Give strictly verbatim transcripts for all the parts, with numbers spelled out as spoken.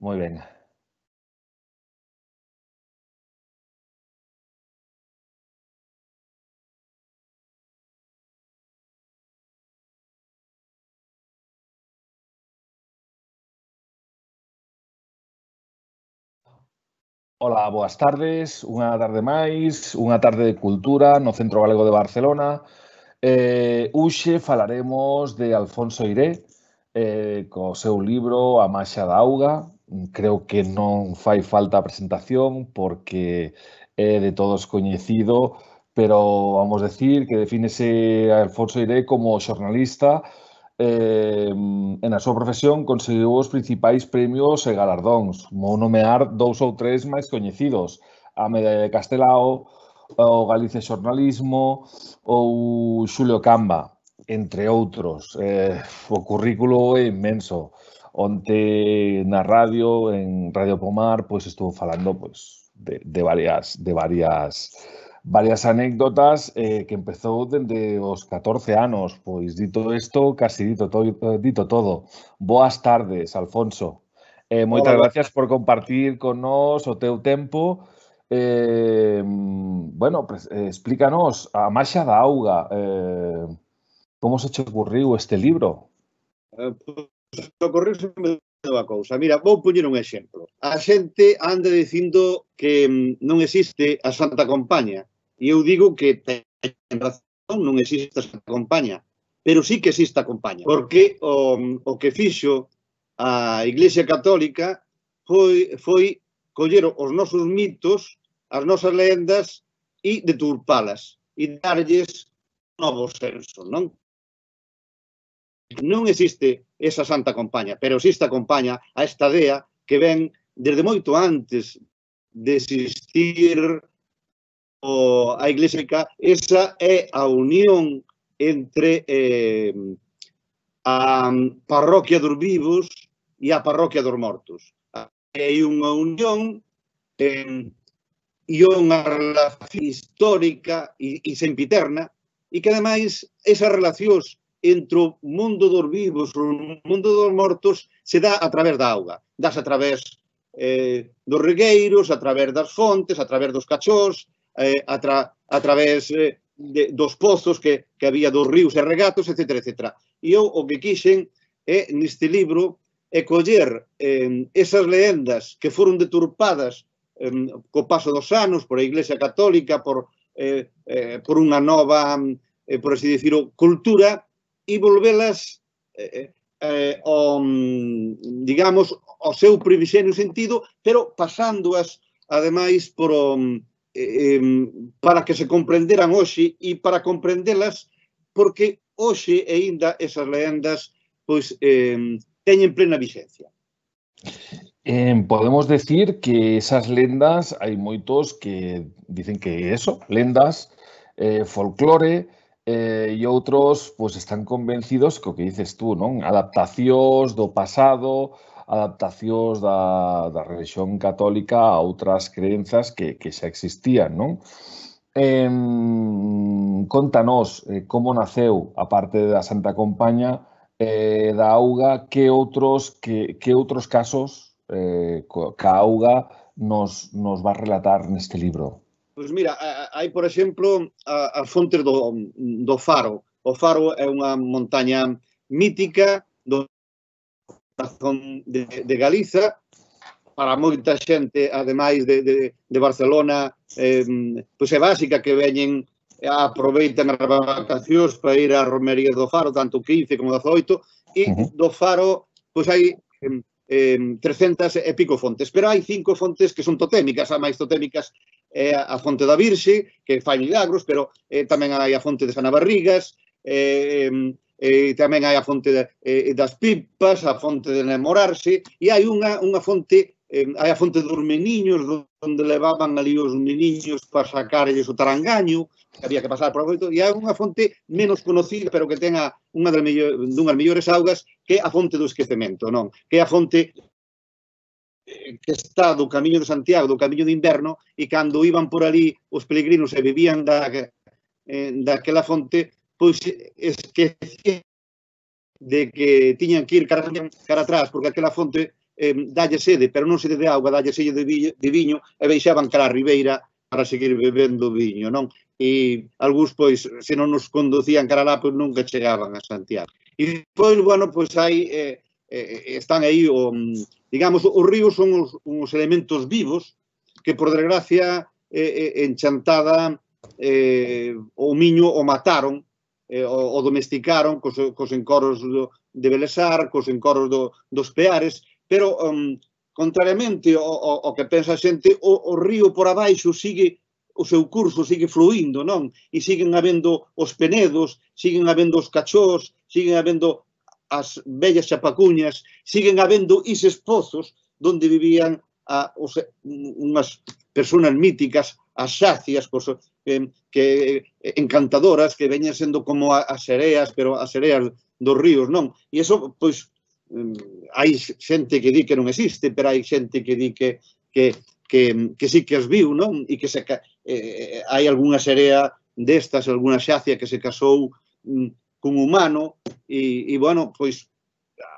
Moi ben. Ola, boas tardes, unha tarde máis, unha tarde de cultura no Centro Galego de Barcelona. Eh, Hoxe falaremos de Alfonso Eiré, eh, co seu libro A Maxa da Auga. Creo que non fai falta a presentación porque é de todos coñecido, pero vamos decir que defínese a Alfonso Eiré como xornalista eh, e na súa profesión conseguiu os principais premios e galardóns. Vou nomear dous ou tres máis coñecidos: a Medalla de Castelao, o Galicia Xornalismo ou Xulio Camba, entre outros. Eh, o currículo é inmenso. Onte na radio, en Radio Pomar, pois estuvo falando pois, de, de varias, de varias varias anécdotas eh, que empezou dende os catorce anos. Pois dito isto, casi dito todo. Dito todo. Boas tardes, Alfonso. Eh, moitas Hola, gracias por compartir con nós o teu tempo. Eh, bueno, pues, eh, explícanos A Maxa da Auga. Eh, como se che ocurriu este libro? Eh, pois, ocorreuseme unha cousa. Mira, vou poñer un exemplo. A xente anda dicindo que non existe a Santa Compaña. E eu digo que ten razón, non existe a Santa Compaña. Pero sí que existe a Compaña. Porque o, o que fixo a Iglesia Católica foi, foi coller os nosos mitos, as nosas lendas e deturpalas. E darlles novo senso, non? Non existe esa Santa Compaña, pero existe a Compaña, a estadea, que ven desde moito antes de existir o, a Iglesia Católica. Esa é a unión entre eh, a parroquia dos vivos e a parroquia dos mortos. Hai unha unión eh, e unha relación histórica e, e sempiterna, e que ademais esas relacións entre o mundo dos vivos e o mundo dos mortos se dá a través da auga. Dás a través eh, dos regueiros, a través das fontes, a través dos cachós, eh, a, tra a través eh, de, dos pozos que, que había dos ríos e regatos, etcétera, etcétera. E eu o que quixen é, neste libro, é coller eh, esas leendas que foron deturpadas eh, co paso dos anos por a Iglesia Católica, por, eh, eh, por unha nova, eh, por así dicirlo, cultura, e volvelas eh, eh, ao, digamos, ao seu previxenio sentido, pero pasándoas, ademais, por o, eh, para que se comprenderan hoxe e para comprendelas, porque hoxe aínda esas leendas pois, eh, teñen plena vixencia. Eh, podemos decir que esas lendas, hai moitos que dicen que eso, lendas, eh, folclore, eh, e outros pois, están convencidos co que dices tú, non? Adaptacións do pasado, adaptacións da, da religión católica a outras crenzas que, que xa existían, non? Eh, contanos eh, como naceu, a parte da Santa Compaña, eh, da auga, que outros, que, que outros casos eh, que a auga nos, nos va a relatar neste libro? Pois mira, hai, por exemplo, as fontes do, do Faro. O Faro é unha montaña mítica do corazón de, de Galiza. Para moita xente, ademais de, de, de Barcelona, eh, pois é básica que veñen aproveitan as vacacións para ir á romería do Faro, tanto quince como dezoito, e uh -huh. do Faro pois hai eh, trescentas e pico fontes, pero hai cinco fontes que son totémicas. A máis totémicas é a fonte da Virxe, que fai milagros, pero eh, tamén hai a fonte de Sanabarrigas, eh, eh, tamén hai a fonte de, eh, das pipas, a fonte de namorarse, e hai unha, unha fonte, eh, hai a fonte dos meniños, onde levaban ali os meniños para sacarlles o tarangaño, que había que pasar por oito, e hai unha fonte menos conocida, pero que ten unha das dunhas mellores augas, que é a fonte do esquecemento, non? Que é a fonte que está do Camiño de Santiago, do Camiño de Inverno, e cando iban por ali os peregrinos e bebían da, eh, daquela fonte, pois esquecían de que tiñan que ir cara, cara atrás, porque aquela fonte eh, dalle sede, pero non sede de auga, dalle sede de, vi, de viño, e baixaban cara a ribeira para seguir bebendo viño, non? E algúns, pois, se non nos conducían cara lá, pois nunca chegaban a Santiago. E depois, bueno, pois aí eh, eh, están aí, o, digamos, os ríos son os, os elementos vivos que, por desgracia, eh, en Chantada eh, o miño o mataron, eh, o, o domesticaron cos, cos encoros do, de Belesar, cos encoros do, dos Peares, pero, um, contrariamente ao, ao, ao que pensa a xente, o, o río por abaixo sigue, o seu curso sigue fluindo, non? E siguen habendo os penedos, siguen habendo os cachós, siguen habendo as vellas chapacuñas, siguen habendo ises pozos onde vivían a, os, unhas persoas míticas, as xacias, pues, eh, que encantadoras, que veñen sendo como as sereas, pero as sereas dos ríos, non? E iso, pois, hai xente que di que non existe, pero hai xente que di que, que, que, que sí que as viu, non? E que se, eh, hai algunha serea destas, algunha xacia que se casou mm, cun humano, e, e bueno, pois,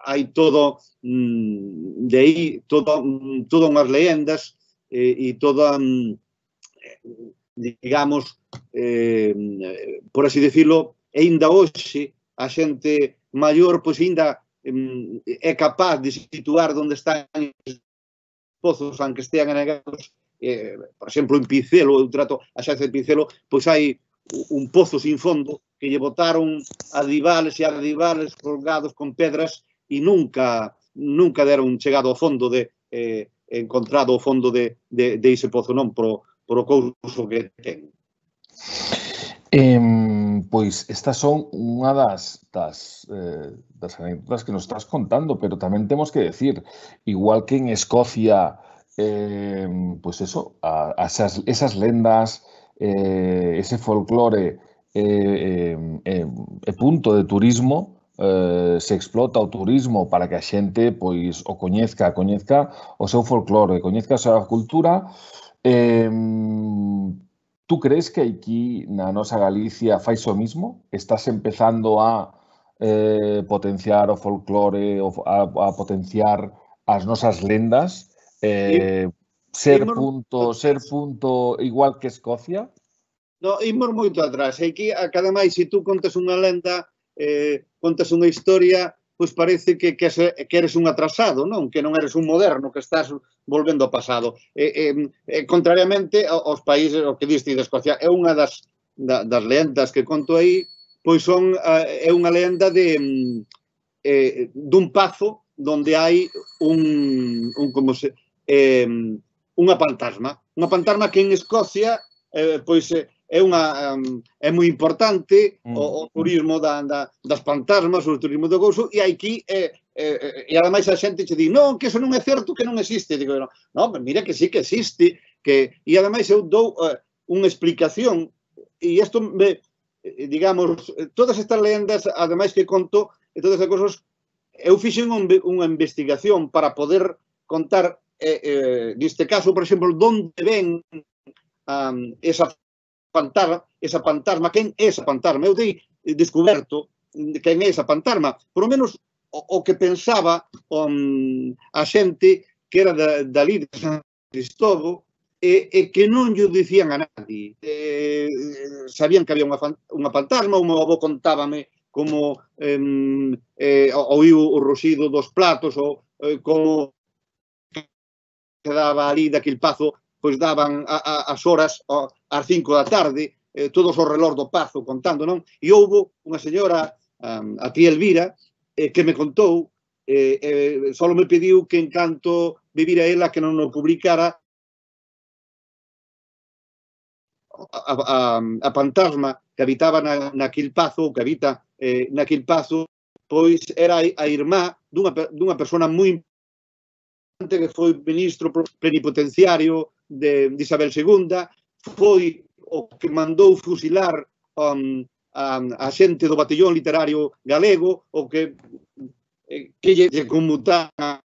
hai todo, mm, de aí, todo, mm, todo unhas leyendas, e, e toda, mm, digamos, eh, por así decirlo, e ainda hoxe, a xente maior, pois, ainda é capaz de situar onde están os pozos, aunque estean anegados. Eh, por exemplo, en Pincelo, eu trato a xacia de Pincelo, pois hai un pozo sin fondo que lle botaron adivales e adivales colgados con pedras e nunca nunca deron chegado ao fondo de eh, encontrado o fondo de, de, de ese pozo, non por, por o couso que ten. Eh, pois estas son unha das, das, eh, das anécdotas que nos estás contando, pero tamén temos que decir, igual que en Escocia, eh, pois eso, a, a esas, esas lendas, eh, ese folclore eh, eh, é punto de turismo, eh, se explota o turismo para que a xente pois o coñezca, coñezca o seu folclore, coñezca a súa cultura. Eh, Tú crees que aquí na nosa Galicia fai o mismo? Estás empezando a eh, potenciar o folclore, a, a potenciar as nosas lendas, eh, ser punto, ser punto igual que Escocia? No, imos moito atrás. Aquí, a cada máis, se tú contas unha lenda, eh, contas unha historia, pois parece que, que, que eres un atrasado, non? Que non eres un moderno, que estás volvendo ao pasado. Eh, eh, eh, contrariamente aos países, o que diste de Escocia, é unha das, da, das lendas que conto aí, pois son, é unha lenda de eh, dun pazo onde hai un, un como se, eh, unha fantasma. Unha fantasma que en Escocia, eh, pois, é unha é moi importante o, o turismo da, da, das fantasmas, o turismo do couso, e aquí eh, eh, e ademais a xente che di, non, que eso non é certo, que non existe. Digo, non, no, mira que sí que existe, que e ademais eu dou uh, unha explicación, e isto me, digamos, todas estas lendas, ademais que conto, e todas as cousas, eu fixen unha investigación para poder contar, eh, eh, neste caso, por exemplo, onde ven um, esa fantasma, esa fantasma, quen é esa fantasma? Eu dei descoberto quen é esa fantasma, por lo menos o, o que pensaba um, a xente que era da, dali de San Cristóbal e, e que non lle dicían a nadie. Eh, sabían que había unha, unha fantasma, o meu avó contábame como eh, eh, oíu o ruxido dos platos, ou eh, como que daba ali daquele pazo, pois daban a, a, as horas a, ás cinco da tarde, eh, todos ao relor do pazo contando, non? E houve unha señora, um, a tía Elvira, eh, que me contou, eh, eh, só me pediu que en canto vivira ela que non o publicara, a, a, a fantasma que habitaba na, naquil pazo, que habita eh, naquil pazo, pois era a irmá dunha, dunha persona moi importante que foi ministro plenipotenciario de, de Isabel segunda, foi o que mandou fusilar um, a, a xente do batallón literario galego, o que eh, que lle, lle conmutaran,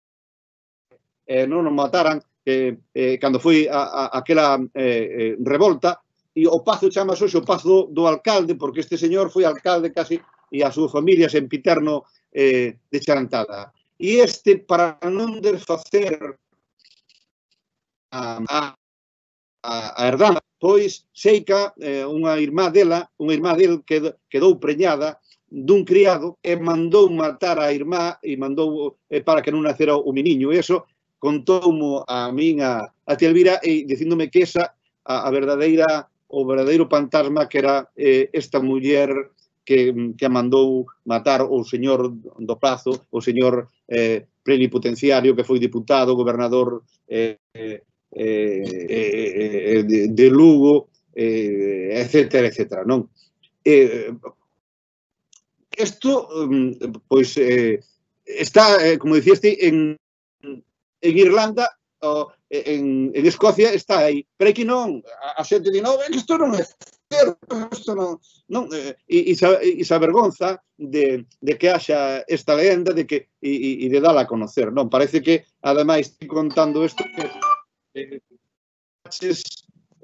eh, non nos mataran, eh, eh, cando foi a, a, aquela eh, eh, revolta. E o pazo chamase hoxe o pazo do alcalde, porque este señor foi alcalde casi, e a súa familia sempiterno eh, de Chantada. e este, para non desfacer a, a, a herdanza, pois Seica, eh, unha irmá dela, unha irmá del quedou, quedou preñada dun criado e mandou matar a irmá e mandou eh, para que non nacera o meniño. E iso contoumo a min a, a tia Elvira e dicíndome que esa a, a verdadeira o verdadeiro fantasma que era eh, esta muller que, que a mandou matar o señor do Prazo, o señor eh, plenipotenciario que foi diputado, gobernador eh, eh, eh, de, de Lugo, eh, etcétera, etcétera, non? Eh, isto, pois, eh, está, eh, como diciste, en, en Irlanda, o, en, en Escocia está aí, pero aquí non, a, a xente di, non, é que isto non é certo, isto non, non eh, e, e se avergonza de, de que haxa esta lenda de que, e, e de dala a conocer, non? Parece que, ademais, estoy contando isto que eh,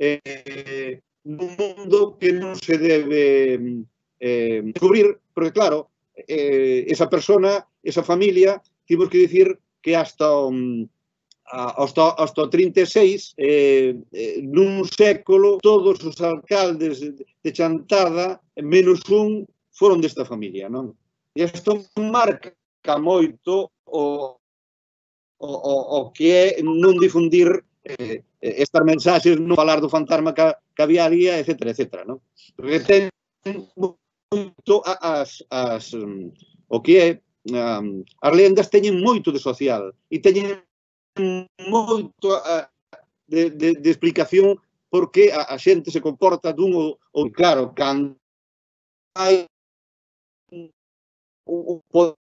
eh, nun mundo que non se debe eh, descubrir, porque claro, eh, esa persona, esa familia, tivos que dicir que hasta um, hasta, hasta o trinta e seis, eh, eh, nun século, todos os alcaldes de Chantada, menos un, foron desta familia, non? E isto marca moito o, o, o que é non difundir eh, estas mensaxes, non falar do fantasma que, que había ali, etcétera, etcétera, non? Porque ten moito as, as, um, o que é, um, as lendas teñen moito de social e teñen moito uh, de, de, de explicación por que a, a xente se comporta dun ou, ou claro, cando hai o poder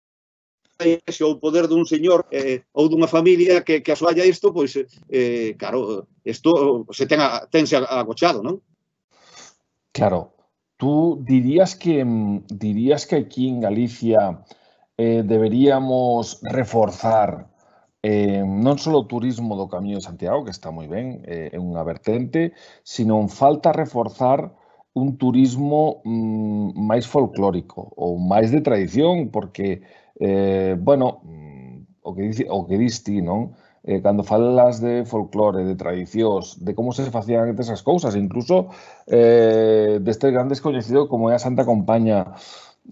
o poder dun señor eh, ou dunha familia que, que asoalla isto, pois, eh, claro, isto se ten a, tense agochado, non? Claro. Tú dirías que, dirías que aquí en Galicia eh, deberíamos reforzar eh, non só o turismo do Camiño de Santiago, que está moi ben, é eh, unha vertente, sino falta reforzar un turismo mm, máis folclórico ou máis de tradición, porque, eh, bueno, o que, dice, o que dis ti, non? Eh, cando falas de folclore, de tradicións, de como se facían esas cousas, incluso eh, deste grande descoñecido como é a Santa Compaña,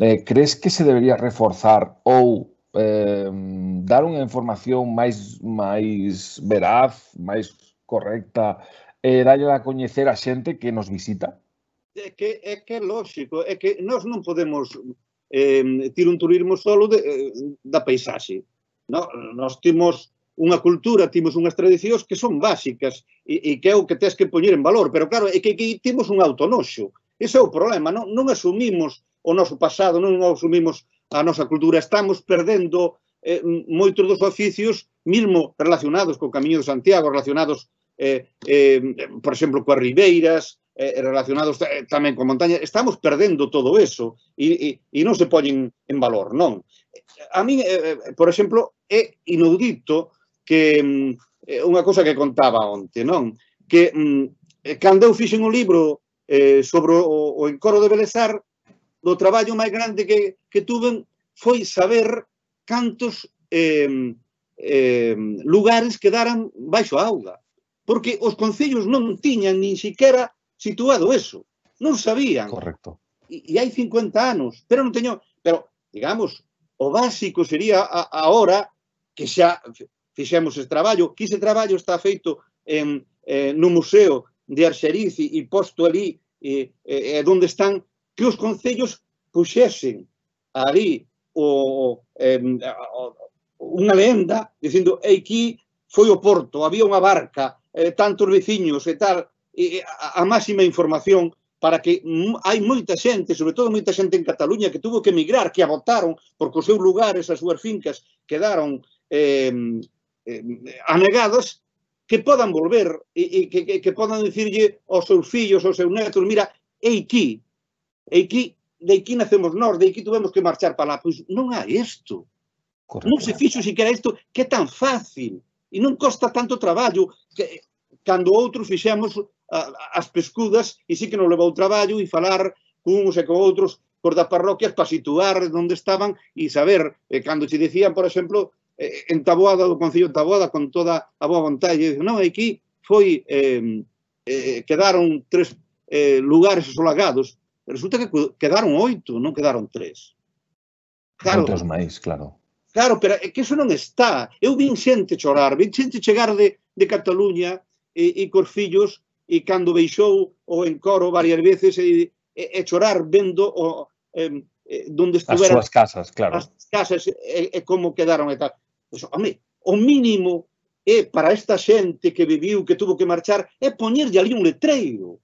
eh, crees que se debería reforzar ou eh, dar unha información máis, máis veraz, máis correcta, e eh, darlle a coñecer a xente que nos visita? É que é que é lógico, é que nós non podemos eh, ter un turismo solo de, eh, da paisaxe. No, nós temos unha cultura, temos unhas tradicións que son básicas e, e que é o que tens que poñer en valor, pero claro, é que aquí temos un autonoxo. Ese é o problema, non, non asumimos o noso pasado, non asumimos a nosa cultura, estamos perdendo eh, moitos dos oficios, mesmo relacionados co Camiño de Santiago, relacionados, eh, eh, por exemplo, coas ribeiras, eh, relacionados eh, tamén con montaña, estamos perdendo todo eso e, e, e non se poñen en valor, non? A mí, eh, por exemplo, é inaudito que eh, unha cousa que contaba onte, non? Que mm, cando eu fixen un libro eh, sobre o, o encoro de Belesar, o traballo máis grande que, que tuven foi saber cantos eh, eh, lugares quedaran baixo a auga. Porque os concellos non tiñan nin siquiera situado eso. Non sabían. Correcto. E, e hai cincuenta anos. Pero non teño... Pero, digamos, o básico sería a, a hora que xa fixemos ese traballo, que ese traballo está feito en, eh, no Museo de Arxeriz e, e posto ali e, e, e onde están, que os concellos puxesen ali o, eh, unha lenda dicindo aquí foi o porto, había unha barca, eh, tantos veciños e tal, e a, a máxima información para que hai moita xente, sobre todo moita xente en Cataluña que tuvo que emigrar, que a botaron porque os seus lugares, as súas fincas quedaron eh, eh, anegadas, que podan volver e, e que, que, que podan dicirlle aos seus fillos, aos seus netos, mira, é aquí, é aquí, de aquí nacemos nós, de aquí tuvemos que marchar para lá. Pois non hai isto. Correcto. Non se fixo siquiera isto, que é tan fácil e non costa tanto traballo que cando outros fixemos as pescudas e sí que nos levou traballo e falar cuns e con outros por das parroquias para situar onde estaban e saber, eh, cando se dicían, por exemplo, en Taboada, do Concello de Taboada, con toda a boa vontade, e dice, non, aquí foi, eh, eh, quedaron tres eh, lugares asolagados, resulta que quedaron oito, non quedaron tres. Claro, moitos máis, claro. Claro, pero é que iso non está. Eu vin xente chorar, vin xente chegar de, de Cataluña e, e cos fillos, e cando beixou o encoro varias veces e, e, e chorar vendo o, eh, donde estuveran as súas casas, claro. As casas e, e como quedaron e tal. Pues, home, o mínimo é para esta xente que viviu, que tuvo que marchar, é poñerlle ali un letreiro.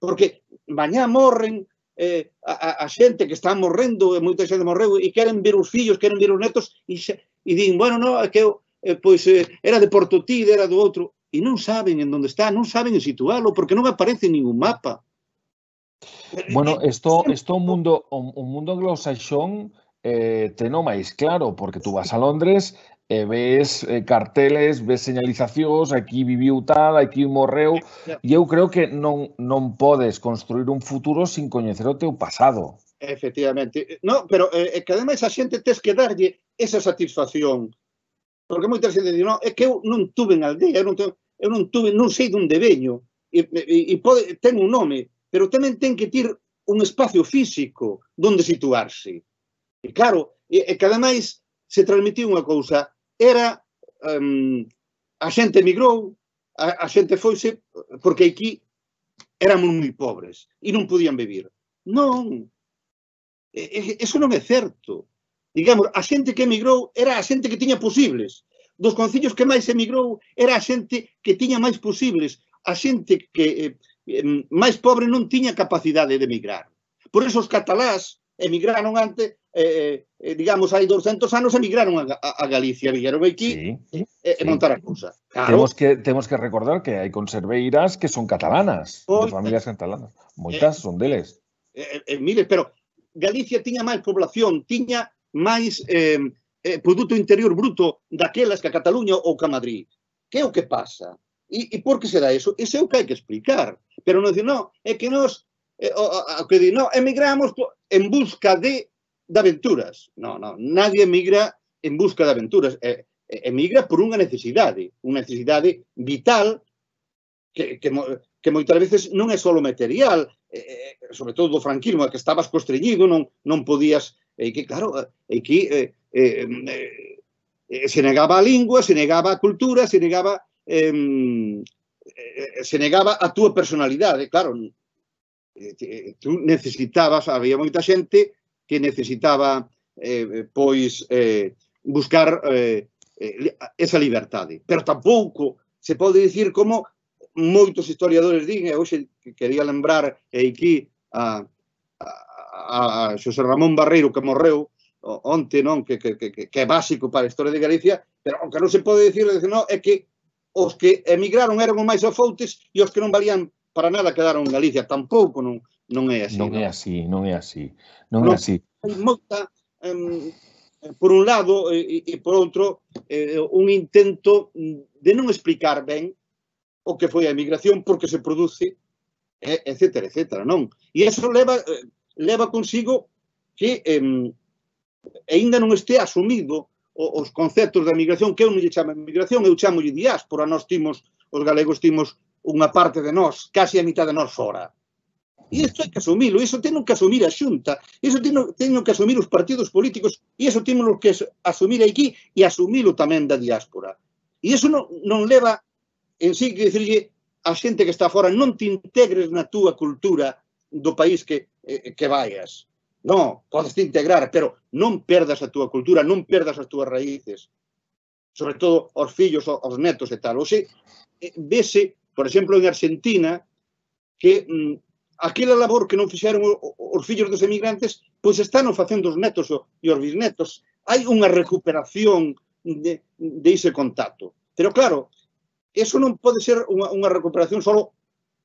Porque mañá morren eh, a, a xente que está morrendo, e moita xente morreu, e queren ver os fillos, queren ver os netos, e, xe, e din, bueno, no, é que eu, eh, pois, eh, era de Portotide, era do outro, e non saben en onde está, non saben en situalo, porque non aparece en ningún mapa. Bueno, isto, isto o mundo, o, o mundo anglosaxón eh, teno máis claro, porque tú vas a Londres e ves eh, carteles, ves señalizacións, aquí viviu tal, aquí morreu, e eu creo que non, non podes construir un futuro sin coñecer o teu pasado. Efectivamente. No, pero é eh, que ademais a xente tes que darlle esa satisfacción. Porque moita xente di, no, é que eu non tuve en aldea, eu non, te, eu non tuve, non sei donde veño, e, e, e pode, ten un nome, pero tamén ten que ter un espacio físico donde situarse. E claro, e, e que ademais se transmitiu unha cousa, era um, a xente emigrou, a, a xente foise, porque aquí éramos moi pobres e non podían vivir. Non, e, eso non é certo. Digamos, a xente que emigrou era a xente que tiña posibles. Dos concellos que máis emigrou era a xente que tiña máis posibles. A xente que eh, máis pobre non tiña capacidade de emigrar. Por eso os catalás emigraron antes, eh, eh, digamos, hai doscientos anos emigraron a, a, a Galicia, vieron aquí sí, e eh, sí. montar a cousa. Claro. Temos que, temos que recordar que hai conserveiras que son catalanas, Oita. de familias catalanas. Moitas eh, son deles. Eh, eh, mire, pero Galicia tiña máis población, tiña máis eh, eh, produto interior bruto daquelas que a Cataluña ou que a Madrid. Que é o que pasa? E, e por que se dá eso? Iso é o que hai que explicar. Pero non dicir, no, é que nos eh, o, o, que di, no, emigramos en busca de, de aventuras. No, no, nadie emigra en busca de aventuras. Eh, emigra por unha necesidade, unha necesidade vital que, que, que moitas veces non é só material, eh, sobre todo do franquismo, que estabas constreñido, non, non podías, e eh, que claro, aquí eh, eh, eh, se negaba a lingua, se negaba a cultura, se negaba eh, se negaba a túa personalidade, claro, eh, tú necesitabas, había moita xente que necesitaba eh, pois eh, buscar eh, esa liberdade, pero tampouco se pode dicir como moitos historiadores din, e hoxe quería lembrar aquí a, a, a Xosé Ramón Barreiro que morreu onte, non, que, que, que, que é básico para a historia de Galicia, pero o que non se pode dicir, non, é que os que emigraron eran os máis afoutes e os que non valían para nada quedaron en Galicia. Tampouco non, non é así. Non, non é así, non é así. Non, non é así. Hai moita, um, por un lado, e, e por outro, eh, un intento de non explicar ben o que foi a emigración, porque se produce, etcétera, etcétera, non? E iso leva, leva consigo que eh, ainda non este asumido os conceptos da emigración, que eu non lle chamo emigración, eu chamo lle diáspora. Nós timos, os galegos timos unha parte de nós, casi a mitad de nós fora. E isto hai que asumilo, iso teño que asumir a Xunta, iso teño, teño que asumir os partidos políticos, e iso teño que asumir aquí e asumilo tamén da diáspora. E iso non, non leva en sí que dicirlle a xente que está fora, non te integres na túa cultura do país que, eh, que vayas. Non, podes te integrar, pero non perdas a túa cultura, non perdas as túas raíces. Sobre todo aos fillos, aos netos e tal. Oxe, eh, vese, por exemplo, en Argentina, que mm, aquela labor que non fixeron os fillos dos emigrantes, pois están facendo os netos e os bisnetos. Hai unha recuperación de, de ese contacto. Pero claro, eso non pode ser unha, unha recuperación só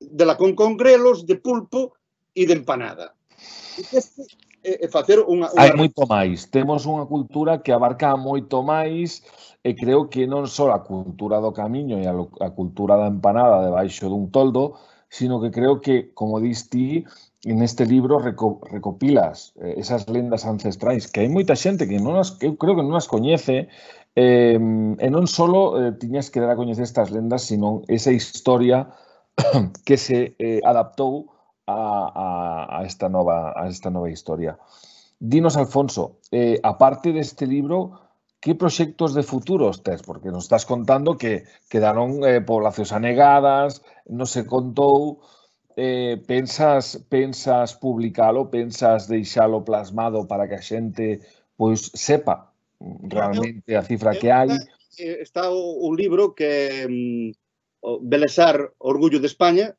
de la con congrelos, de pulpo e de empanada. Este é facer unha, unha... Hai moito máis. Temos unha cultura que abarca moito máis e creo que non só a cultura do camiño e a, a cultura da empanada debaixo dun toldo, sino que creo que, como dis ti, en este libro reco, recopilas eh, esas lendas ancestrais, que hai moita xente que non as, que eu creo que non as coñece, Eh, e non só eh, tiñas que dar a coñecer estas lendas, sino esa historia que se eh, adaptou a, a, a, esta nova, a esta nova historia. Dinos, Alfonso, eh, aparte deste libro, que proxectos de futuros tes? Porque nos estás contando que quedaron eh, poblacións anegadas, non se contou, eh, pensas, pensas publicalo, pensas deixalo plasmado para que a xente pois sepa realmente a cifra que hai? Está o libro que um, Belesar, Orgullo de España,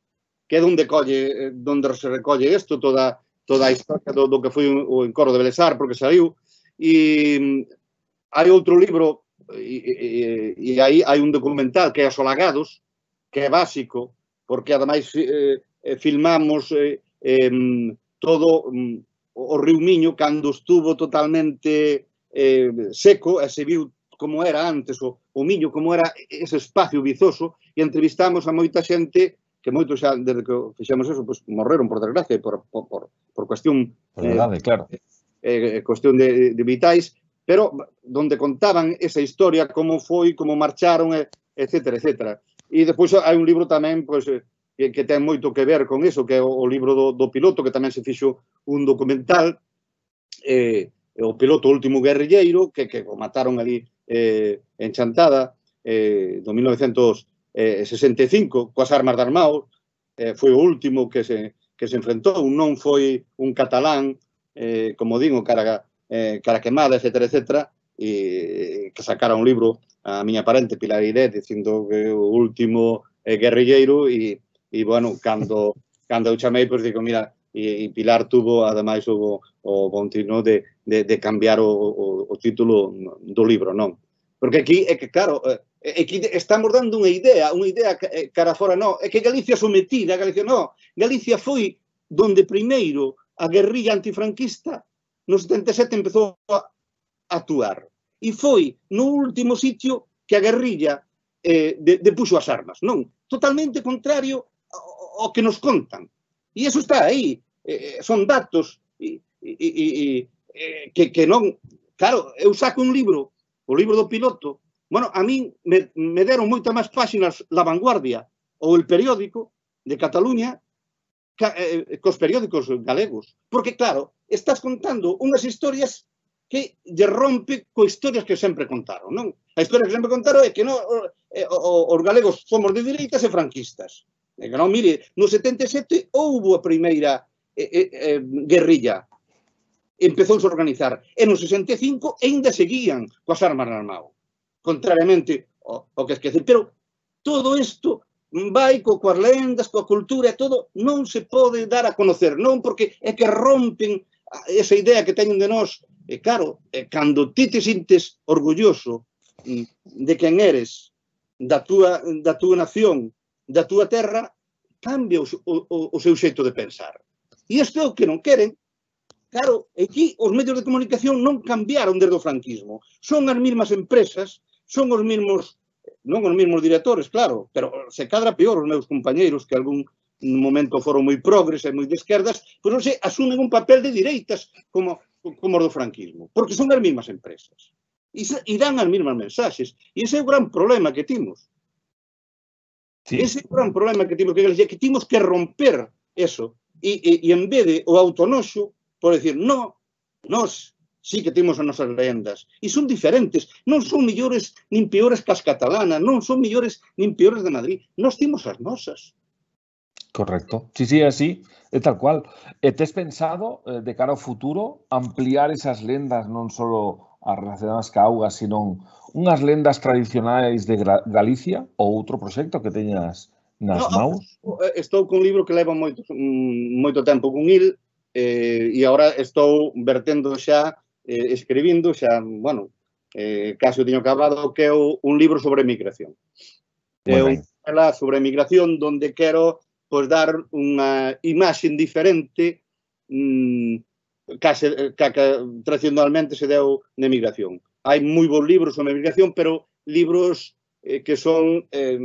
que é onde colle, onde se recolle isto, toda toda a historia do, do que foi o encoro de Belesar, porque saiu, e hai outro libro, e, e, e aí hai un documental que é Os Olagados, que é básico, porque ademais eh, filmamos eh, eh, todo um, o Río Miño cando estuvo totalmente eh, seco, e se viu como era antes o, o Miño, como era ese espacio vizoso, e entrevistamos a moita xente que moitos xa, desde que fixemos eso, pues, morreron, por desgracia, por, por, por, por cuestión, por verdade, eh, claro. eh, cuestión de, de vitais, pero donde contaban esa historia, como foi, como marcharon, etcétera, etcétera. E despois hai un libro tamén, pues, que, que ten moito que ver con eso, que é o, o libro do, do piloto, que tamén se fixo un documental, eh, o piloto Último Guerrilleiro, que, que o mataron ali eh, en Chantada, eh, do mil novecentos sesenta e cinco, coas armas de armado, eh, foi o último que se, que se enfrentou, non foi un catalán, eh, como digo, cara, eh, cara quemada, etcétera, etcétera, e que sacara un libro a miña parente, Pilar Iret, dicindo que o último eh, guerrilleiro, e, e bueno, cando, cando eu chamei, pois digo, mira, e, e Pilar tuvo, ademais, o, o bon tino de, de, de cambiar o, o, o título do libro, non? Porque aquí, é que, claro, é que estamos dando unha idea, unha idea cara fora, non, é que Galicia sometida, Galicia non, Galicia foi donde primeiro a guerrilla antifranquista no setenta e sete empezou a actuar. E foi no último sitio que a guerrilla eh, de, de puxo as armas, non? Totalmente contrario ao, ao que nos contan. E iso está aí, eh, son datos e, e, e, e, que, que non... Claro, eu saco un libro, o libro do piloto, bueno, a min me, me deron moitas máis páxinas La Vanguardia ou El Periódico de Cataluña ca, eh, cos periódicos galegos. Porque, claro, estás contando unhas historias que lle rompe co historias que sempre contaron, non? A historia que sempre contaron é que non, eh, os galegos somos de dereitas e franquistas. E que non, mire, no setenta e sete houbo a primeira eh, eh, guerrilla. Empezouse a organizar. E no sesenta e cinco ainda seguían coas armas de armado. Contrariamente ao, ao que esquecer. Pero todo isto vai co, coas lendas, coa cultura e todo, non se pode dar a conocer, non? Porque é que rompen esa idea que teñen de nós. E claro, cando ti te sintes orgulloso de quen eres, da túa, da túa nación, da túa terra, cambia o, o, o seu xeito de pensar. E isto é o que non queren. Claro, aquí os medios de comunicación non cambiaron desde o franquismo. Son as mesmas empresas, son os mesmos, non os mesmos directores, claro, pero se cadra peor os meus compañeiros que algún momento foron moi progres e moi de esquerdas, pois non sei, asumen un papel de direitas como, como os do franquismo, porque son as mesmas empresas. E, e dan as mesmas mensaxes. E ese é o gran problema que timos. Sí. Ese é o gran problema que timos que, que timos que romper eso. E, e, e en vez de o autonoxo, por decir, no, nós sí que temos as nosas lendas. E son diferentes. Non son millores nin peores que as catalanas, non son millores nin peores de Madrid. Nós temos as nosas. Correcto. Sí, sí, así, é tal cual. E tes pensado, eh, de cara ao futuro, ampliar esas lendas non só as relacionadas ca auga, sino unhas lendas tradicionais de Galicia ou outro proxecto que teñas nas no, maus? Estou con un libro que leva moito, moito tempo con il, eh, e agora estou vertendo xa, eh, escribindo xa, bueno, eh, casi o teño acabado, que é un libro sobre migración. É un libro sobre migración donde quero pois dar unha imaxe diferente mmm, case, que, que tradicionalmente se deu na migración. Hai moi bons libros sobre migración, pero libros eh, que son eh,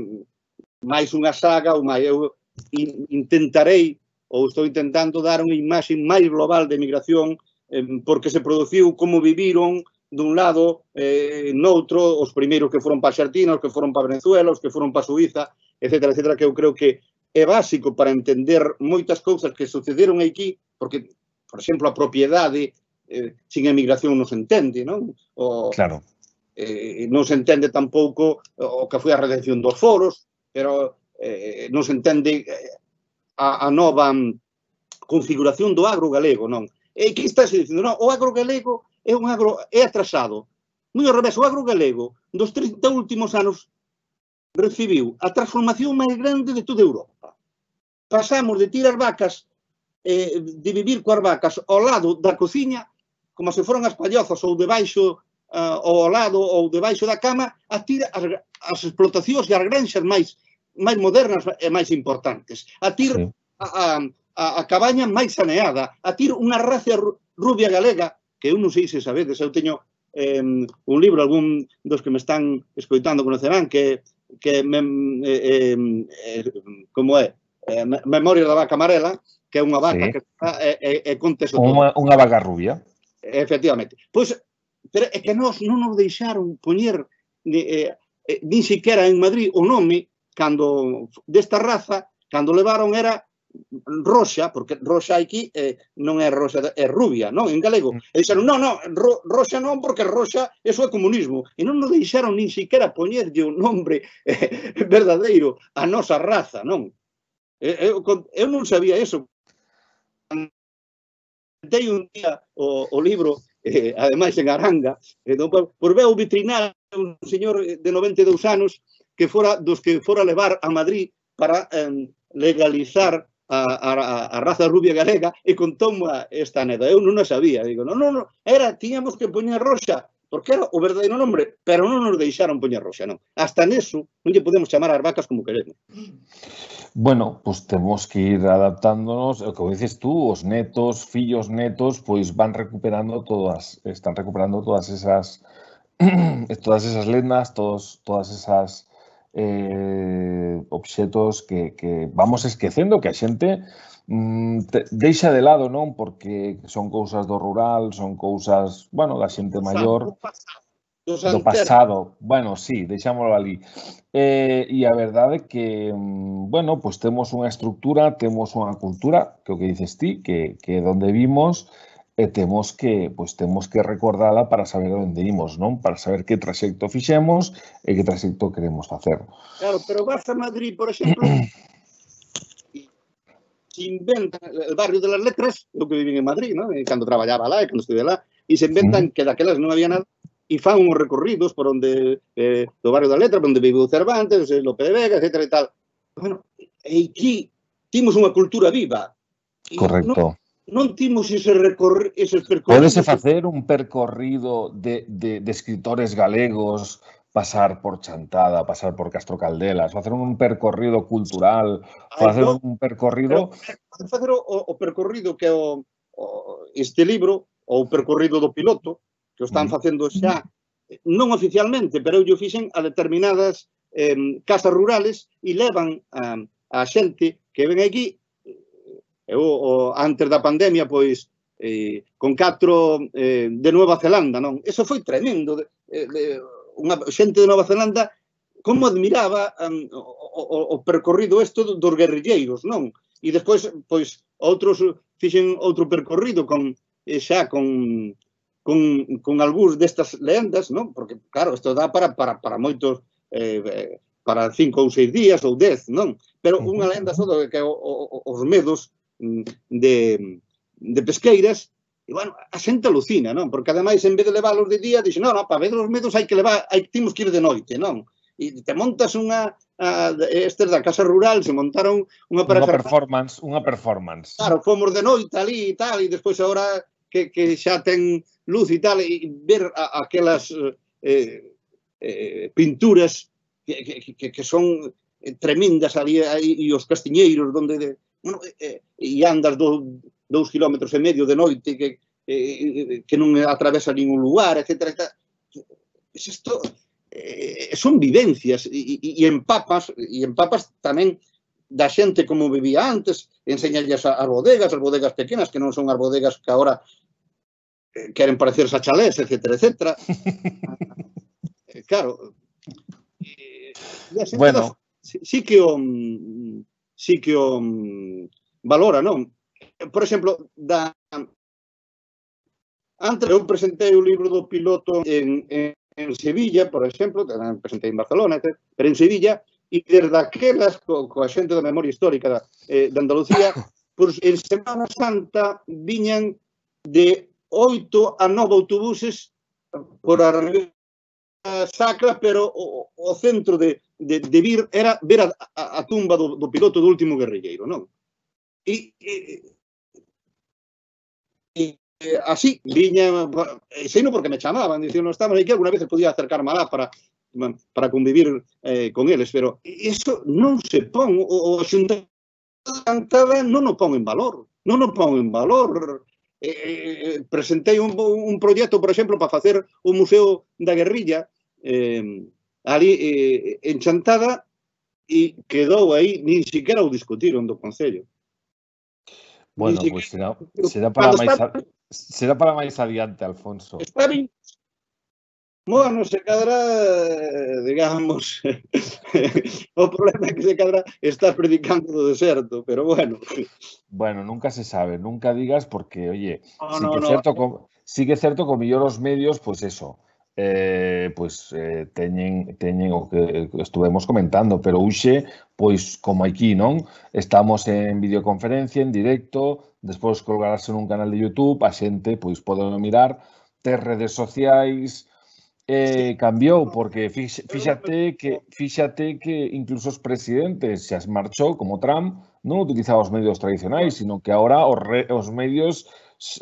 máis unha saga, ou máis, eu intentarei, ou estou intentando dar unha imaxe máis global de migración, eh, porque se produciu, como viviron, dun lado, eh, noutro, os primeiros que foron para a Argentina, os que foron para Venezuela, os que foron para Suiza, etcétera, etcétera, que eu creo que é básico para entender moitas cousas que sucederon aquí, porque, por exemplo, a propiedade eh, sin emigración non se entende, non? O, claro. Eh, non se entende tampouco o que foi a redención dos foros, pero eh, non se entende a, a nova configuración do agro galego, non? E que está se dicindo, non, o agro galego é un agro é atrasado. Moi ao revés, o agro galego dos trinta últimos anos recibiu a transformación máis grande de toda Europa. Pasamos de tirar vacas, eh, de vivir coas vacas ao lado da cociña, como se foran as pallozas ou debaixo uh, ao lado ou debaixo da cama, a tira as, as explotacións e as granxas máis máis modernas e máis importantes. A tir sí. a, a, a cabaña máis saneada, a tir unha raza rubia galega, que eu non sei se sabedes, eu teño eh, un libro, algún dos que me están escoitando conocerán, que que me, eh, eh, como é, eh, Memoria da vaca amarela, que é unha vaca sí. que está, e, e, e conte eso todo. Unha, unha vaca rubia. Efectivamente. Pois, pero é que nós non nos deixaron poñer eh, eh, nin siquiera en Madrid o nome cando desta raza, cando levaron era roxa, porque roxa aquí eh, non é roxa, é rubia, non? En galego. E dixeron, non, non, ro, roxa non, porque roxa, eso é comunismo. E non nos deixaron nin siquiera poñerlle un nombre eh, verdadeiro a nosa raza, non? Eu, eu non sabía eso. Dei un día o, o libro, eh, ademais en Aranga, eh, por ver o vitrinar un señor de noventa e dous anos que fora dos que fora levar a Madrid para eh, legalizar A, a, a raza rubia galega e contou-me esta aneda. Eu non a sabía. Digo, non, non, non, era, tiñamos que poñer roxa, porque era o verdadeiro nombre, pero non nos deixaron poñer roxa, non. Hasta neso non lle podemos chamar as vacas como queremos. Bueno, pois pues temos que ir adaptándonos, como dices tú, os netos, fillos netos, pois van recuperando todas, están recuperando todas esas todas esas lendas, todos, todas esas Eh, obxetos que, que vamos esquecendo, que a xente mm, te, deixa de lado, non? Porque son cousas do rural, son cousas, bueno, da xente maior, do pasado. Bueno, sí, deixámoslo ali. Eh, e a verdade é que, bueno, pois temos unha estructura, temos unha cultura, que o que dices ti, que, que donde vimos, e temos que, pois, temos que recordala para saber onde imos, non? Para saber que traxecto fixemos e que traxecto queremos facer. Claro, pero vas a Madrid, por exemplo, se inventa el barrio de las letras, eu que vivín en Madrid, non? Cando traballaba lá e cando estudié lá, e se inventan que daquelas non había nada, e fan uns recorridos por onde, eh, do barrio das letras, onde viveu Cervantes, Lope de Vega, etcétera e tal. Bueno, e aquí timos unha cultura viva. Correcto. Non timos ese recorrido, eses percorridos. Pódese facer un percorrido de, de, de escritores galegos, pasar por Chantada, pasar por Castro Caldelas, facer un percorrido cultural, facer Ay, no, un percorrido... Pero, facer o, o percorrido que o, o este libro, ou o percorrido do piloto, que o están facendo xa, non oficialmente, pero eu fixen a determinadas eh, casas rurales e levan a, a xente que ven aquí. Eu, o, antes da pandemia, pois, eh, con catro eh, de Nueva Zelanda, non? Eso foi tremendo. De, de, unha xente de Nueva Zelanda como admiraba um, o, o, o percorrido isto dos guerrilleiros, non? E despois, pois, outros fixen outro percorrido con, eh, xa con, con, con algúns destas lendas, non? Porque, claro, isto dá para, para, para moitos, eh, para cinco ou seis días ou dez, non? Pero unha lenda só que o, o, os medos de, de pesqueiras, e, bueno, a xente alucina, non? Porque, ademais, en vez de leválos de día, dixe, non, non, para ver os medos hai que levar, hai, temos que ir de noite, non? E te montas unha, a, estes da casa rural, se montaron unha Unha performance, unha performance. Claro, fomos de noite ali e tal, e despois agora que, que xa ten luz e tal, e ver a, aquelas eh, eh, pinturas que, que, que son tremendas ali, e os castiñeiros, donde... De, bueno, e, e andas do, dous kilómetros e medio de noite que, eh, que non atravesa ningún lugar, etcétera. Isto eh, son vivencias e, e, e empapas, e empapas tamén da xente como vivía antes, enseñalles as bodegas, as bodegas pequenas, que non son as bodegas que agora queren parecerse a chalés, etcétera, etcétera. Claro, e a xente Bueno, sí que o sí que o valora, non? Por exemplo, da antes eu presentei o libro do piloto en, en, en Sevilla, por exemplo, tamén presentei en Barcelona, etcétera, pero en Sevilla, e desde aquelas, co, coa xente da memoria histórica da, eh, de Andalucía, pues, en Semana Santa viñan de oito a nove autobuses por a Sacra, pero o, o centro de, de, de vir era ver a, a, a tumba do, do piloto do último guerrilleiro, non? E, e, e así, viña, sei non porque me chamaban, dicían, non estamos aquí, alguna vez podía acercarme alá para, para convivir eh, con eles, pero iso non se pon, o, o xuntamento cantada non o pon en valor, non o pon en valor. Eh, eh, presentei un, un proxecto, por exemplo, para facer o Museo da Guerrilla, eh, ali eh, en Chantada, e quedou aí, nin siquiera o discutiron do Concello. bueno, pois pues será, será para máis a, será para máis adiante, Alfonso. Está ben. Bueno, se cadra, digamos, o problema é que se cadra está predicando do deserto, pero bueno. Bueno, nunca se sabe, nunca digas porque, oye, No, sí, no, que no. cierto, con, sí que é certo que mellor os medios, pois pues eso, eh, pois pues, eh, teñen, teñen o que estuvemos comentando, pero hoxe, pois como aquí, non? Estamos en videoconferencia, en directo, despois colgarase nun canal de YouTube, a xente, pois pode mirar, ter redes sociais. Eh, cambiou, porque fíxate que, fíxate que incluso os presidentes xa marchou, como Trump, non utilizaba os medios tradicionais, sino que ahora os, re, os medios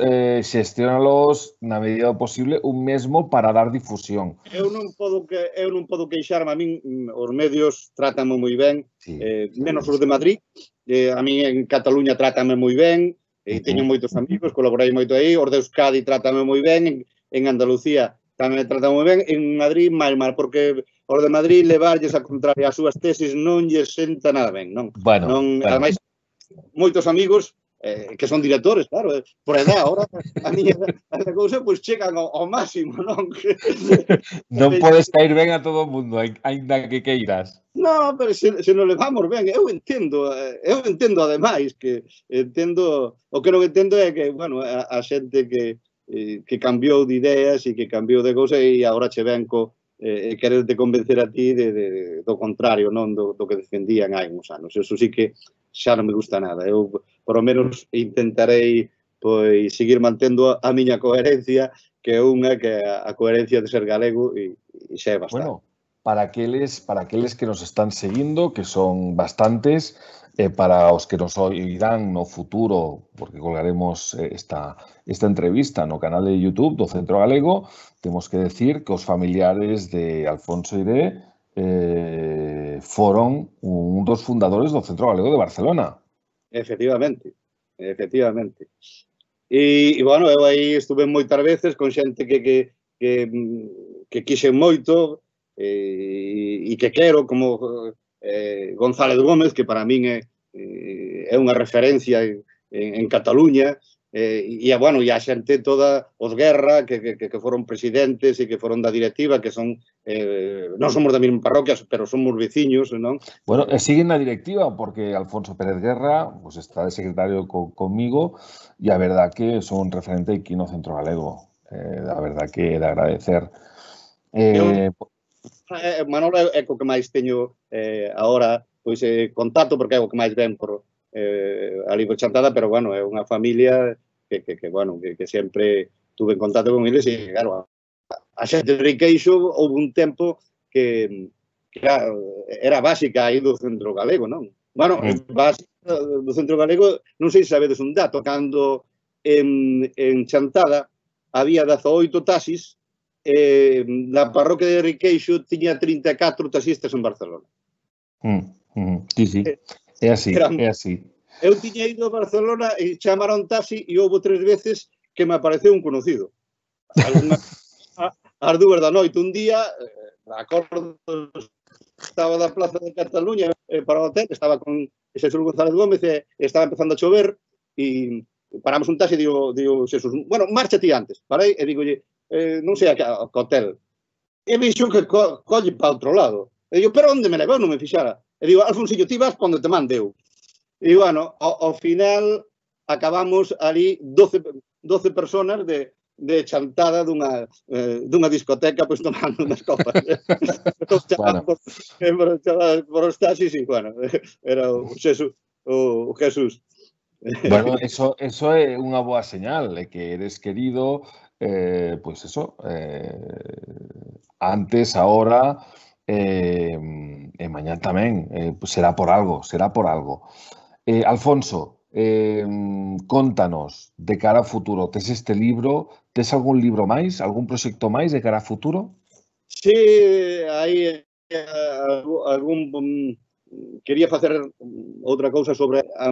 eh, xestionalos na medida do posible un mesmo para dar difusión. Eu non podo que eu non podo queixarme, a min os medios trátame moi ben, Sí, eh, sí, menos sí. os de Madrid, eh, a min en Cataluña trátame moi ben, e eh, teño moitos amigos, colaborei moito aí, os de Euskadi trátame moi ben, en, en Andalucía tamén me tratan moi ben, en Madrid máis mal, porque os de Madrid levarlles a contraria as súas tesis non lles senta nada ben, non? Bueno, non bueno. Ademais, moitos amigos eh, que son directores, claro, eh, por edad, ahora a miña a cousa pois pues, chegan ao, ao máximo, non? Non podes caer ben a todo o mundo, aínda que queiras. No, pero se, se nos levamos ben, eu entendo, eu entendo ademais que entendo, o que non entendo é que, bueno, a, a xente que que cambiou de ideas e que cambiou de cousa e agora che ven co eh, quererte convencer a ti de, de, do contrario, non do, do que defendían hai uns anos. Eso sí que xa non me gusta nada. Eu, por lo menos, intentarei pois seguir mantendo a miña coherencia, que é unha que a, a coherencia de ser galego e, e xa é bastante. Bueno, para aqueles, para aqueles que nos están seguindo, que son bastantes, eh, para os que nos oirán no futuro, porque colgaremos esta, esta entrevista no canal de YouTube do Centro Galego, temos que decir que os familiares de Alfonso Iré eh, foron un dos fundadores do Centro Galego de Barcelona. Efectivamente, efectivamente. E, e bueno, eu aí estuve moitas veces con xente que, que, que, que quixen moito e, e que quero, como eh, González Gómez, que para min é, é unha referencia en, en Cataluña, eh, e, bueno, e a xente toda, os Guerra, que, que, que foron presidentes e que foron da directiva, que son, eh, non somos da mesma parroquia, pero somos veciños, non? Bueno, e siguen na directiva, porque Alfonso Pérez Guerra pues, está de secretario co, conmigo, e a verdad que son un referente aquí no Centro Galego. Eh, a verdad que é de agradecer. Eh, Eu, Manolo é co que máis teño eh, agora pois, eh, contacto, porque é o que máis ven por eh, ali por Chantada, pero, bueno, é unha familia que, que, que bueno, que, que sempre tuve en contacto con eles e, claro, a, a xente de Riqueixo houve un tempo que, que era, era básica aí do Centro Galego, non? Bueno, mm. básica do Centro Galego, non sei se sabedes un dato, cando en, en Chantada había dezaoito taxis, Eh, na parroquia de Riqueixo tiña trinta e catro taxistas en Barcelona. Mm, mm, sí, sí, é así, Eran, é así. Eu tiña ido a Barcelona e chamaron taxi e houve tres veces que me apareceu un conocido. Alguna, a, as dúas da noite, un día, eh, acordo, estaba da Plaza de Cataluña eh, para o hotel, estaba con Xesús González Gómez e estaba empezando a chover e paramos un taxi e digo, digo Xesús, bueno, marcha ti antes. Parei e digolle, eh, non sei a que hotel. E vixo que co colle para outro lado. E digo, pero onde me levou? Non me fixara. E digo, Alfonsillo, ti vas para onde te mandeu. E bueno, ao, ao final acabamos ali doce, doce personas de, de chantada dunha, eh, dunha discoteca pois tomando unhas copas. Bueno. Por, por, por os taxis e, bueno, era o Xesús. O, o Jesús. Bueno, eso, eso é unha boa señal, é que eres querido, eh, pois eso, eh, antes, ahora, eh, e mañá tamén, eh, será por algo, será por algo. Eh, Alfonso, eh, contanos de cara ao futuro, tes este libro, tes algún libro máis, algún proxecto máis de cara ao futuro? Sí, hai eh, algún... Um, quería facer outra cousa sobre a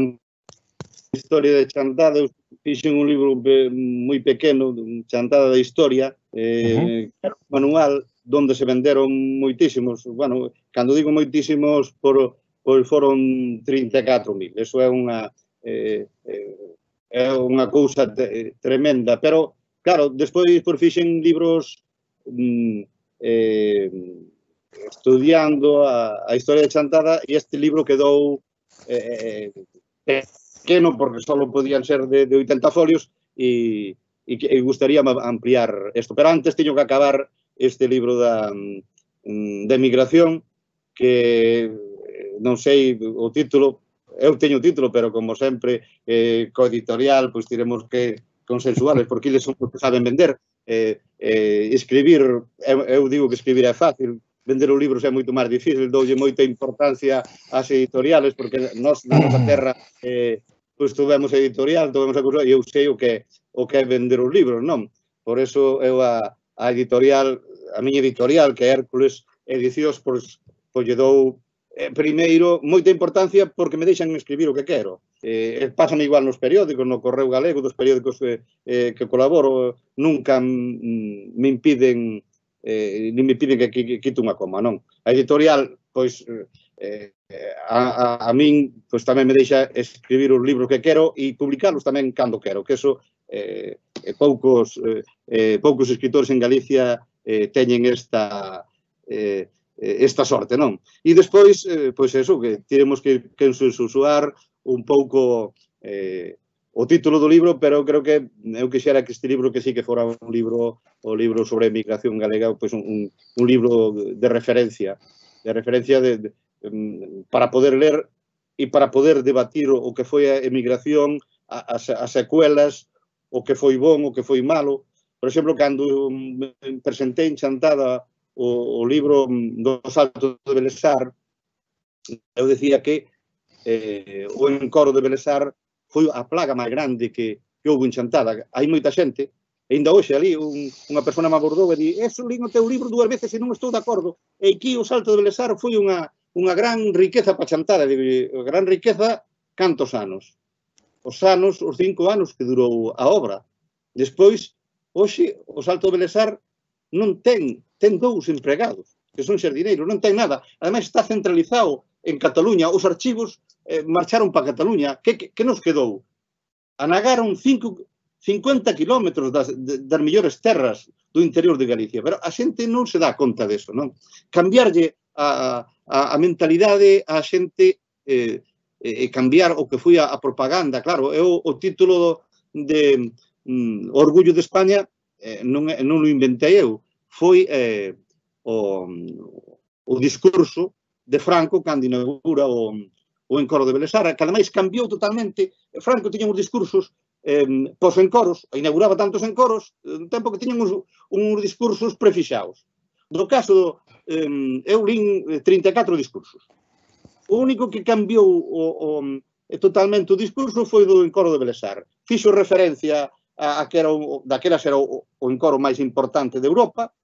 historia de Chantada. Eu fixen un libro moi pequeno, Chantada da Historia, eh, uh-huh. un manual donde se venderon moitísimos, bueno, cando digo moitísimos, por, por foron trinta e catro mil. Eso é unha eh, é unha cousa te, tremenda, pero claro, despois por fixen libros mm, eh, estudiando a, a historia de Chantada e este libro quedou eh, pequeno porque só podían ser de, de oitenta folios e, e, e gustaría ampliar isto. Pero antes teño que acabar este libro da, da emigración que non sei o título, eu teño o título, pero como sempre eh, coeditorial, pois tiremos que consensuales porque eles son os que saben vender. Eh, eh, escribir, eu, eu digo que escribir é fácil, vender os libros é moito máis difícil, doulle moita importancia ás editoriales, porque nós na nosa terra eh, pois tuvemos editorial, tuvemos a cousa, e eu sei o que, o que é vender os libros, non? Por eso eu a, a editorial, a miña editorial, que é Hércules Edicións, pois, pois lle dou eh, primeiro moita importancia porque me deixan escribir o que quero. Eh, pásame igual nos periódicos, no Correo Galego, dos periódicos que, eh, que colaboro, nunca mm, me impiden eh, nin me piden que, que, que quite unha coma, non? A editorial, pois, eh, a, a, a min, pois tamén me deixa escribir os libros que quero e publicarlos tamén cando quero, que eso eh, poucos, eh, poucos escritores en Galicia eh, teñen esta eh, esta sorte, non? E despois, eh, pois eso, que tiremos que consensuar un pouco eh, o título do libro, pero creo que eu quixera que este libro que sí que fora un libro, o libro sobre a emigración galega, pois un, un libro de referencia, de referencia de, de, para poder ler e para poder debatir o que foi a emigración, as, as secuelas, o que foi bon, o que foi malo. Por exemplo, cando me presentei en Chantada o, o libro do Salto de Belesar, eu decía que eh, o encoro de Belesar foi a plaga máis grande que, que houve en Chantada. Hai moita xente, e ainda hoxe ali un, unha persona me abordou e di, eso lín o teu libro dúas veces e non estou de acordo. E aquí o Salto de Belesar foi unha, unha gran riqueza para Chantada. Digo, gran riqueza, cantos anos? Os anos, os cinco anos que durou a obra. Despois, hoxe, o Salto de Belesar non ten, ten dous empregados, que son xardineiros, non ten nada. Ademais, está centralizado en Cataluña. Os archivos eh, marcharon para Cataluña. Que, que, que nos quedou? Anagaron cinco, cincuenta kilómetros das, das mellores terras do interior de Galicia. Pero a xente non se dá conta deso, non? Cambiarlle a, a, a mentalidade a xente eh, e cambiar o que foi a, a propaganda. Claro, é o, o título de mm, Orgullo de España eh, non, non o inventei eu. Foi eh, o, o discurso de Franco cando inaugura o, o encoro de Belesar, que ademais cambiou totalmente. Franco tiña uns discursos eh, pos-encoros, inauguraba tantos encoros, un tempo que tiñan uns, uns discursos prefixados. No caso, eh, eu lin trinta e catro discursos. O único que cambiou o, o, totalmente o discurso foi do encoro de Belesar. Fixo referencia a, a que era o, daquelas era o, o encoro máis importante de Europa,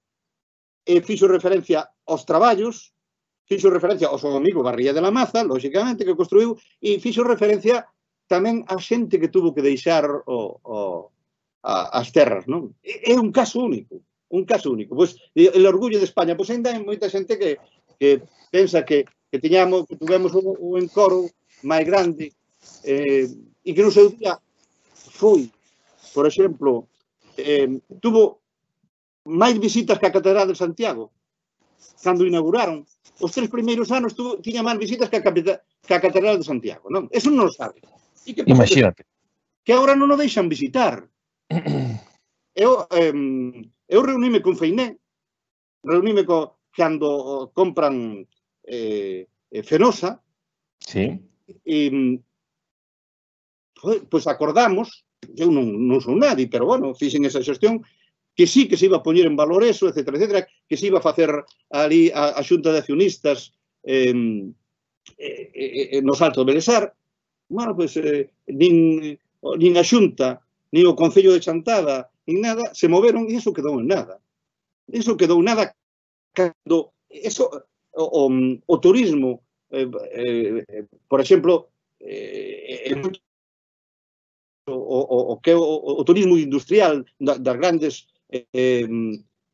e fixo referencia aos traballos, fixo referencia ao seu amigo Barría de la Maza, lógicamente, que construiu, e fixo referencia tamén a xente que tuvo que deixar o, o, a, as terras, non? É un caso único, un caso único. Pois, el orgullo de España, pois ainda hai moita xente que, que pensa que, que teñamos, que tuvemos o, o encoro máis grande eh, e que no seu día foi, por exemplo, eh, tuvo máis visitas que a Catedral de Santiago cando inauguraron. Os tres primeiros anos tuvo, tiña máis visitas que a, que a Catedral de Santiago, non? Eso non o sabe. E que pasou? Imagínate. Que agora non o deixan visitar. Eu, eh, eu reunime con Feiné, reunime co, cando compran eh, Fenosa, sí. e pois acordamos, eu non, non son nadie, pero bueno, fixen esa xestión, que sí que se iba a poñer en valor eso, etcétera, etcétera, que se iba a facer ali a, a xunta de accionistas eh, eh, eh, no Salto de Belesar. Bueno, pois eh, nin, nin a xunta, nin o Concello de Chantada, nin nada, se moveron e iso quedou en nada. Iso quedou nada cando eso, o, o, o turismo, eh, eh, por exemplo, eh, o, o, o que o, o turismo industrial da, das grandes eh,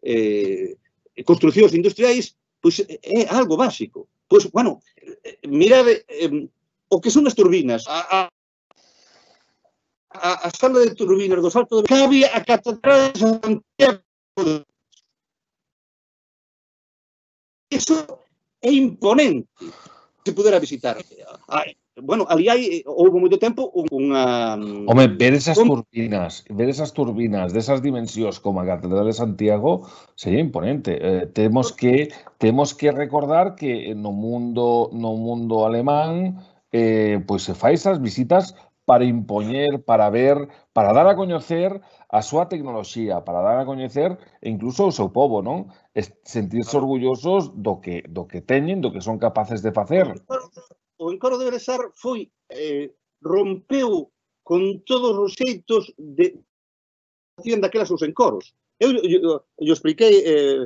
eh, construcións industriais, pois é algo básico. Pois, bueno, mirade eh, o que son as turbinas, a, a, a sala de turbinas do Salto de Cabe, a Catedral de Santiago. Eso é imponente se pudera visitar. Bueno, ali hai, houve moito tempo, unha... Home, ver esas turbinas, ver esas turbinas desas dimensións como a Catedral de Santiago sería imponente. Eh, temos que temos que recordar que no mundo no mundo alemán eh, pois se fai esas visitas para impoñer, para ver, para dar a coñecer a súa tecnoloxía, para dar a coñecer incluso o seu povo, non? Sentirse orgullosos do que do que teñen, do que son capaces de facer. O encoro de Belesar foi, eh, rompeu con todos os xeitos de facían daquelas os encoros. Eu, eu, eu, eu expliquei, eh,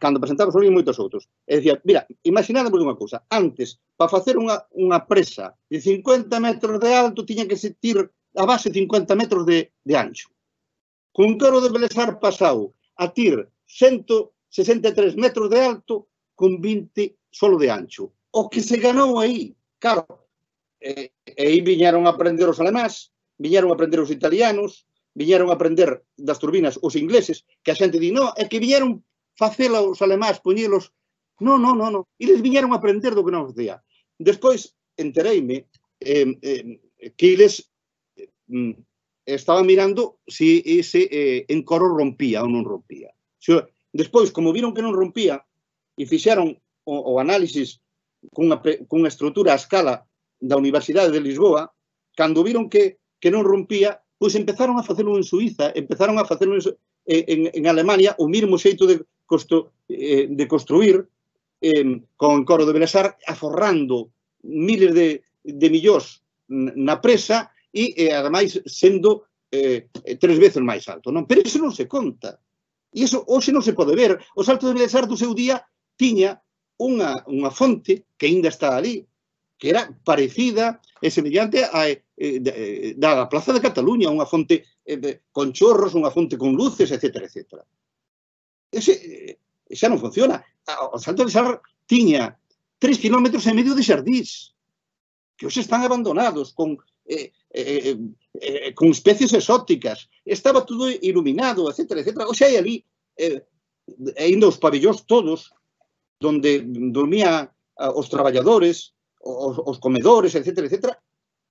cando presentamos o libro, moitos outros. E dicía, mira, imaginádemos unha cousa. Antes, para facer unha, unha presa de cincuenta metros de alto, tiña que se tir a base cincuenta metros de, de ancho. Con o encoro de Belesar pasou a tir ciento sesenta e tres metros de alto con vinte solo de ancho. O que se ganou aí, claro, e aí viñeron a aprender os alemáns, viñeron a aprender os italianos, viñeron a aprender das turbinas os ingleses, que a xente di, no, é que viñeron facela os alemáns, poñelos, no, no, no, no, eles viñeron a aprender do que non día. Despois, entereime eh, eh, que eles eh, estaban mirando se si ese eh, encoro rompía ou non rompía. Despois, como viron que non rompía, e fixeron o, o análisis cunha, cunha estrutura a escala da Universidade de Lisboa, cando viron que, que non rompía, pois empezaron a facelo en Suiza, empezaron a facelo en, en, en Alemania, o mesmo xeito de, constru, eh, de construir eh, con encoro de Belesar, aforrando miles de, de millóns na presa e, eh, ademais, sendo eh, tres veces máis alto. Non? Pero iso non se conta. E iso hoxe non se pode ver. O Salto de Belesar do seu día tiña Unha, unha fonte que ainda está ali, que era parecida e semellante a, eh, da Plaza de Cataluña, unha fonte eh, con chorros, unha fonte con luces, etcétera, etcétera. Ese eh, xa non funciona. O Salto de Belesar tiña tres kilómetros e medio de xardís, que hoxe están abandonados, con, eh, eh, eh, con especies exóticas. Estaba todo iluminado, etcétera, etcétera. Hoxe hai ali, eh, ainda os pabellóns todos, donde dormían os traballadores, os, os comedores, etcétera, etcétera,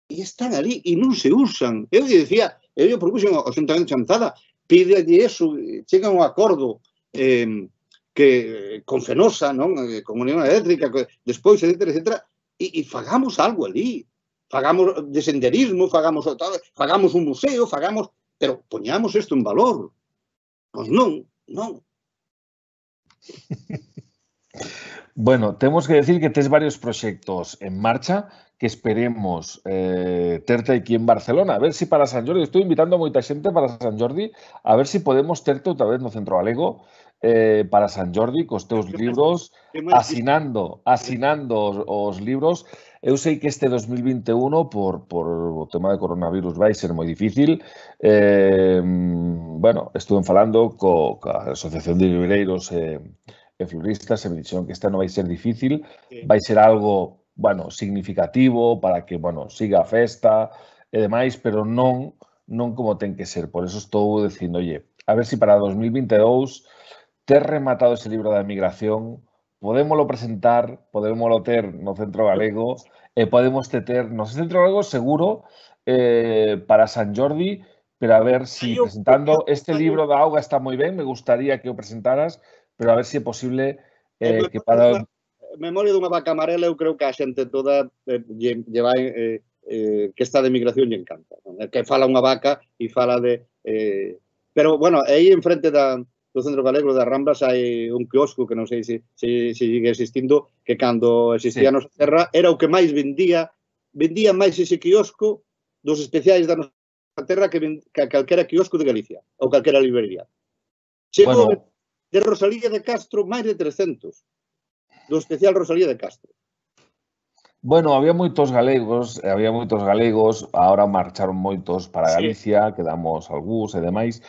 e están ali e non se usan. Eu dicía, eu propuxen ao Xuntamento de Chantada, pide eso, chega un acordo eh, que con Fenosa, non? Con Unión Eléctrica, que, despois, etcétera, etcétera, e, e fagamos algo ali. Fagamos de senderismo, fagamos, fagamos un museo, fagamos, pero poñamos isto en valor. Pois non, non. Bueno, temos que decir que tes varios proxectos en marcha que esperemos eh, terte aquí en Barcelona. A ver si para San Jordi, estou invitando a moita xente para San Jordi, a ver si podemos terte outra vez no Centro Galego eh, para San Jordi, cos teus libros, asinando, asinando os, os libros. Eu sei que este dos mil vinte e uno, por, por o tema de coronavirus, vai ser moi difícil. Eh, bueno, estuve falando co, ca Asociación de Libreiros e eh, floristas, e me dixeron que esta non vai ser difícil, vai ser algo, bueno, significativo para que, bueno, siga a festa e demais, pero non non como ten que ser. Por eso estou dicindo, oye, a ver se para dos mil vinte e dous ter rematado ese libro da migración, podémolo presentar, podémolo ter no Centro Galego e podemos ter no Centro Galego seguro eh, para San Jordi, pero a ver si Eu- presentando eu- este libro da auga está moi ben, me gustaría que o presentaras, pero a ver se é posible En eh, que para... Memoria dunha vaca amarela, eu creo que a xente toda eh, lle, lle vai, eh, eh, que está de migración lle encanta. Non? Que fala unha vaca e fala de... Eh, pero, bueno, aí enfrente da, do Centro Galego das Ramblas hai un quiosco que non sei se, se, se sigue existindo, que cando existía Sí. a nosa terra era o que máis vendía, vendía máis ese quiosco dos especiais da nosa terra que, ven, que calquera quiosco de Galicia ou calquera librería. Chegou Bueno, de Rosalía de Castro máis de trescentos do especial Rosalía de Castro. Bueno, había moitos galegos, había moitos galegos, agora marcharon moitos para Galicia, sí. Quedamos algúns e demais,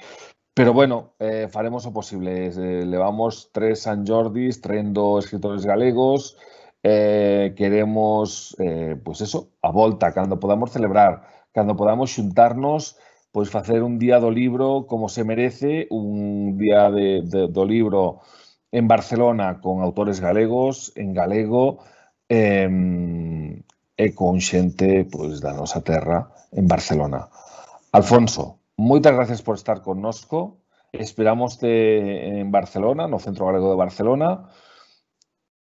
pero bueno, eh, faremos o posible. Eh, levamos tres San Jordis traendo escritores galegos, eh, queremos, eh, pois pues eso, a volta, cando podamos celebrar, cando podamos xuntarnos, pois facer un día do libro como se merece, un día de, de, do libro en Barcelona con autores galegos, en galego, eh, e con xente pois, da nosa terra en Barcelona. Alfonso, moitas gracias por estar connosco. Esperámoste en Barcelona, no Centro Galego de Barcelona.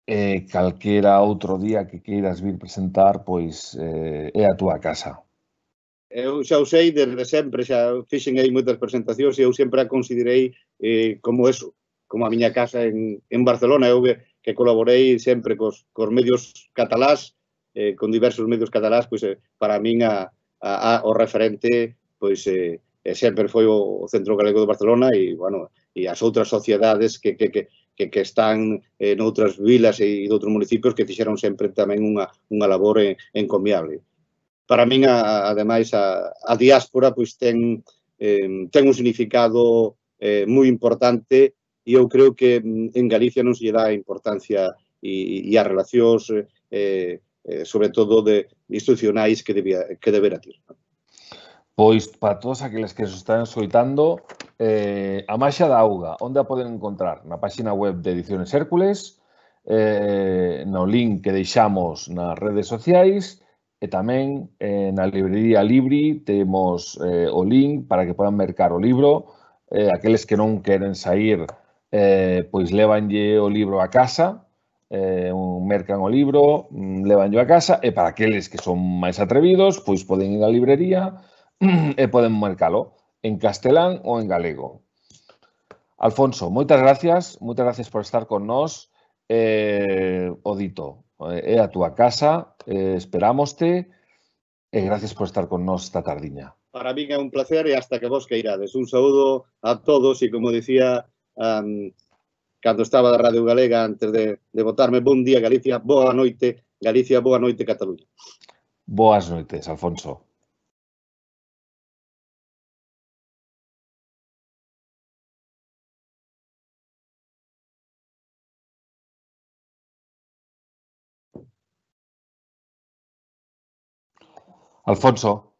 E calquera outro día que queiras vir presentar, pois eh, é a túa casa. Eu xa o sei desde sempre, xa fixen aí moitas presentacións e eu sempre a considerei eh, como eso, como a miña casa en, en Barcelona. Eu que, que colaborei sempre cos, cos medios catalás, eh, con diversos medios catalás, pois eh, para min a, a, a, o referente pois eh, sempre foi o Centro Galego de Barcelona e, bueno, e as outras sociedades que, que, que, que, que están eh, noutras vilas e de outros municipios que fixeron sempre tamén unha, unha labor eh, encomiable. Para min, a, ademais, a, a diáspora pois ten, eh, ten un significado eh, moi importante e eu creo que en Galicia non se lle dá importancia e, e as relacións eh, eh, sobre todo de institucionais que, debía, que debera ter. Pois, para todos aqueles que se están escoitando, eh, a Maxa da Auga, onde a poden encontrar? Na página web de Ediciones Hércules, eh, no link que deixamos nas redes sociais, e tamén eh, na librería Libri temos eh, o link para que podan mercar o libro. Eh, aqueles que non queren sair, eh, pois levanlle o libro a casa, eh, un mercan o libro, levanlle a casa, e para aqueles que son máis atrevidos, pois poden ir á librería e poden mercalo en castelán ou en galego. Alfonso, moitas gracias, moitas gracias por estar con nós. Eh, o dito, é a túa casa, eh, esperámoste e gracias por estar con nós esta tardiña. Para min é un placer e hasta que vos queirades. Un saúdo a todos e, como dicía um, cando estaba da Radio Galega antes de, de votarme, bon día Galicia, boa noite Galicia, boa noite Cataluña. Boas noites, Alfonso. Alfonso.